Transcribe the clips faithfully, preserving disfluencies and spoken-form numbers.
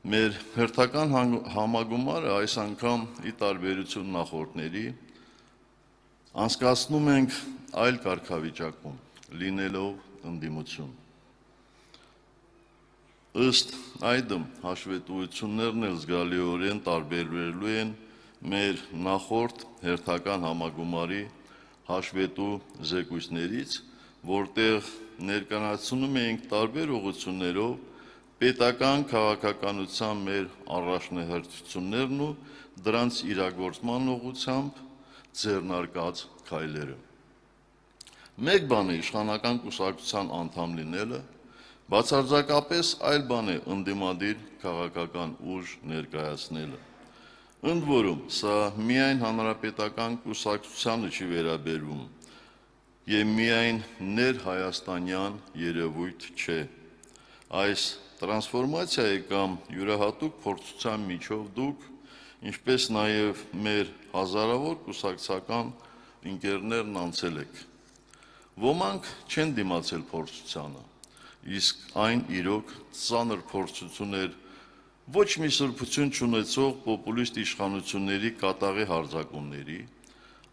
Մեր հերթական համագումարը այս անգամ ի տարբերություն նախորդների անցկացնում ենք այլ կարգավիճակում, լինելով ընդդիմություն։ Ըստ այդմ հաշվետվություններն էլ զգալիորեն տարբերվելու են մեր նախորդ հերթական համագումարի հաշվետու զեկույցներից, որտեղ ներկայացնում էինք տարբեր ուղղություններով պետական քաղաքականության մեր առաջնահերթություններն ու դրանց իրագործման ուղղությամբ ձեռնարկած քայլերը։ Մեկ բան է իշխանական կուսակցության անդամ լինելը, բացարձակապես այլ բան է ընդդիմադիր քաղաքական ուժ ներկայացնելը։ Ընդ որում, սա միայն հանրապետական կուսակցությանը չի վերաբերվում եւ միայն ներհայաստանյան երևույթ չէ։ Այս տրանսֆորմացիայի կամ յուրահատուկ փորձության միջով դուք, ինչպես նաեւ մեր հազարավոր կուսակցական ընկերներն անցել եք։ Ոմանք չեն դիմացել փորձությանը, իսկ այն իրոք ծանր փորձություն էր ոչ մի սրբություն չունեցող պոպուլիստ իշխանությունների կատաղի հարձակումների,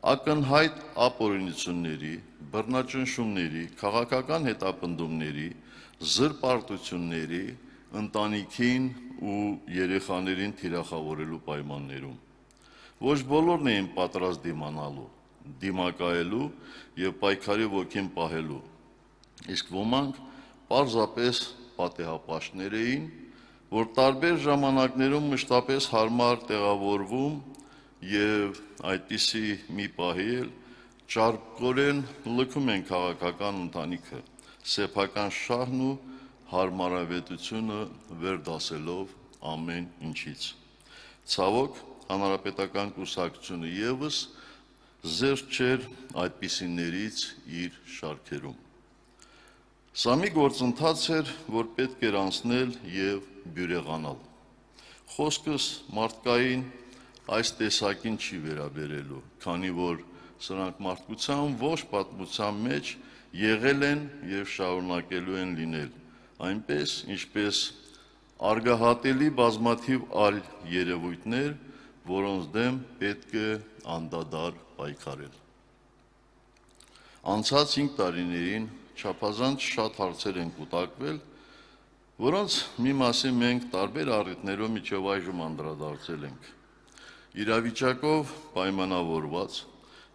ակնհայտ ապօրինությունների, բռնաճնշումների, քաղաքական հետապնդումների, զրպարտությունների, ընտանիքին ու երեխաներին թիրախավորելու պայմաններում։ Ոչ բոլորն էին պատրաստ դիմանալու, դիմակայելու եւ պայքարի ոգին պահելու, իսկ ոմանք պարզապես պատեհապաշտներ էին, որ տարբեր ժամանակներում մշտապես հարմար տեղավորվում եւ այդպիսի մի պահի էլ ճարպկորեն լքում են քաղաքական ընտանիքը, սեփական շահն ու հարմարավետությունը վերդասելով ամեն ինչից։ Ցավոք, հանրապետական կուսակցությունը եւս զերծ չէր այդպիսիներից իր շարքերում։ Սա մի գործընթաց էր, որ պետք էր անցնել եւ բյուրեղանալ։ Խոսքս մարդկային այս տեսակին չի վերաբերելու, քանի որ սրանք մարդկության ոչ պատմության մեջ եղել են եւ շարունակելու են լինել, այնպես ինչպես արգահատելի բազմաթիվ այլ երևույթներ, որոնց դեմ պետք է անդադար պայքարել։ Անցած հինգ տարիներին չափազանց շատ հարցեր են կուտակվել, որոնց մի մասին մենք տարբեր առիթներով մինչև այժմ անդրադարձել ենք։ Իրավիճակով պայմանավորված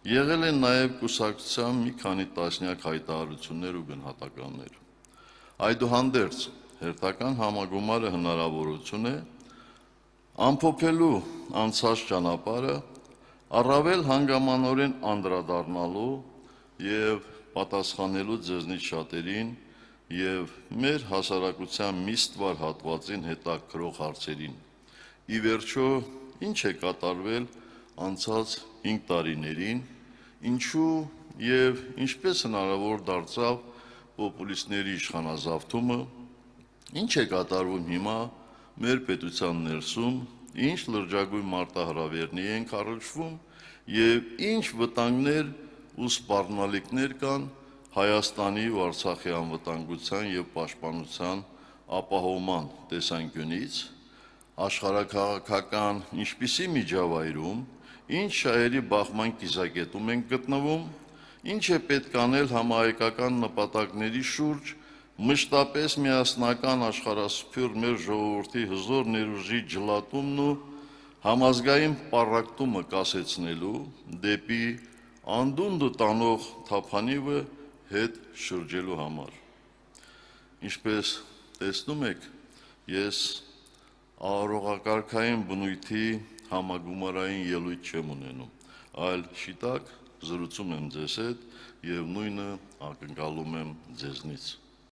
եղել են նաև կուսակցության մի քանի տասնյակ հայտարարություններ ու գնահատականներ։ Այդուհանդերձ հերթական համագումարը հնարավորություն է ամփոփելու անցած ճանապարհը, առավել հանգամանորեն անդրադառնալու եւ պատասխանելու ձեզնից շատերին եւ մեր հասարակության մի ստվար հատվածին հետաքրող հարցերին։ Ի վերջո, ինչ է կատարվել անցած հինգ տարիներին, ինչու եւ ինչպես հնարավոր դարձավ պոպուլիստների իշխանազավթումը, ինչ է կատարվում հիմա մեր պետության ներսում, ինչ լրջագույն մարտահրավերների են կառուցվում եւ ինչ վտանգներ ու սպառնալիքներ կան Հայաստանի ու Արցախի անվտանգության եւ պաշտպանության ապահովման տեսանկյունից, աշխարհաքաղաքական ինչպիսի միջավայրում, ինչ շահերի բախման կիզակետում ենք գտնվում, ինչ է պետք անել համահայկական նպատակների շուրջ մշտապես միասնական աշխարհասփյուռ մեր ժողովրդի հզոր ներուժի ջլատումն ու համազգային պառակտումը կասեցնելու դեպի անդունդը տանող թափանիվը հետ շրջելու համար։ Ինչպես տեսնում եք, ես արարողակարգային բնույթի համագումարային ելույթ չեմ ունենում, այլ շիտակ զրուցում եմ ձեզ հետ եւ նույնը ակնկալում եմ ձեզնից։